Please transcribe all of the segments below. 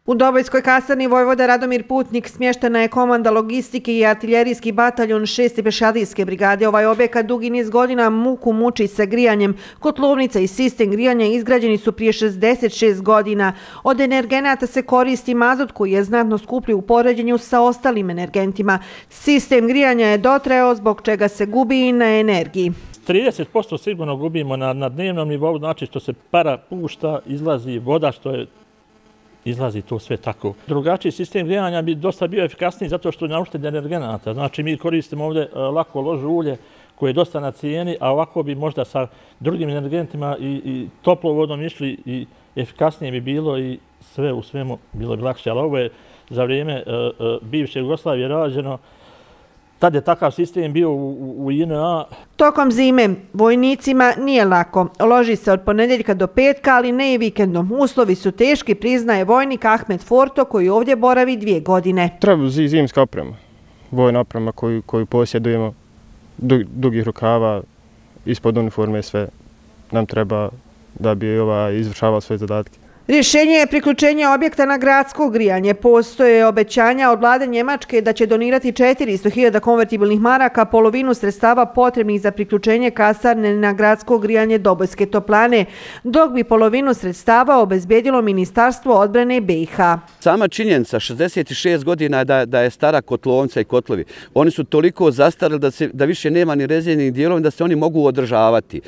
U Dobojskoj kasarni vojvoda Radomir Putnik smještena je komanda logistike i artiljerijski bataljon 6. pješadijske brigade. Ovaj objekat dugi niz godina muku muči sa grijanjem. Kotlovnica i sistem grijanja izgrađeni su prije 66 godina. Od energenata se koristi mazut koji je znatno skuplji u poređenju sa ostalim energentima. Sistem grijanja je dotrajao zbog čega se gubi i na energiji. 30% sigurno gubimo na dnevnom nivou, znači što se para pušta, izlazi voda, izlazi to sve tako. Drugačiji sistem grijanja bi dosta bio efikasniji zato što je na uštedi energenata. Znači mi koristimo ovdje lako lož ulje koje je dosta na cijeni, a ovako bi možda sa drugim energentima i toplovodom išli i efikasnije bi bilo i sve u svemu bilo bi lakše. Ali ovo je za vrijeme bivše Jugoslavije rađeno. Tad je takav sistem bio u JNA. Tokom zime vojnicima nije lako. Loži se od ponedjeljka do petka, ali ne i vikendom. Uslovi su teški, priznaje vojnik Ahmed Forto koji ovdje boravi 2 godine. Treba zimska oprema, vojna oprema koju posjedujemo, dugih rukava, ispod uniforme sve nam treba da bi izvršavao svoje zadatke. Rješenje je priključenje objekta na gradsko grijanje. Postoje obećanja od vlade Njemačke da će donirati 400.000 konvertibilnih maraka, polovinu sredstava potrebnih za priključenje kasarne na gradsko grijanje Dobojske toplane, dok bi polovinu sredstava obezbedilo Ministarstvo odbrane BiH. Sama činjenica 66 godina da je stara kotlovnica i kotlovi. Oni su toliko zastarili da više nema ni rezervnih dijelova da se oni mogu održavati.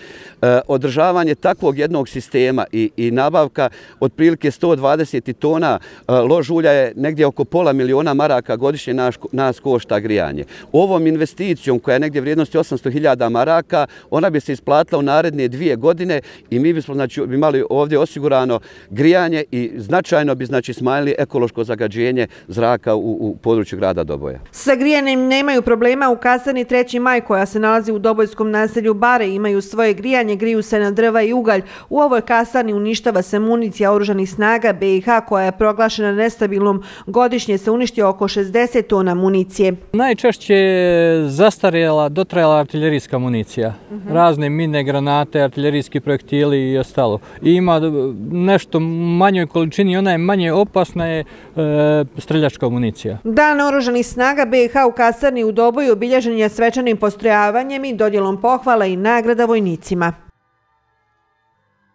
Održavanje takvog jednog sistema i nabavka otprilike 120 tona lož ulja je negdje oko $500.000 godišnje nas košta grijanje. Ovom investicijom koja je negdje vrijednosti 800.000 maraka, ona bi se isplatila u naredne 2 godine i mi bismo imali ovdje osigurano grijanje i značajno bi smanjili ekološko zagađenje zraka u području grada Doboja. Sa grijanjem nemaju problema u kasarni 3. maj koja se nalazi u dobojskom naselju Bare. Imaju svoje grijanje, griju se na drva i ugalj. U ovoj kasarni uništava se municija oružanih snaga BiH koja je proglašena nestabilnom. Godišnje se uništi oko 60 tona municije. Najčešće je zastarjela, dotrajala artiljerijska municija. Razne mine, granate, artiljerijski projektili i ostalo. I ima nešto manjoj količini, ona je manje opasna je streljačka municija. Dan oružanih snaga BiH u kasarni u Doboju obilježen je svečanim postrojavanjem i dodjelom pohvala i nagrada vojnicima.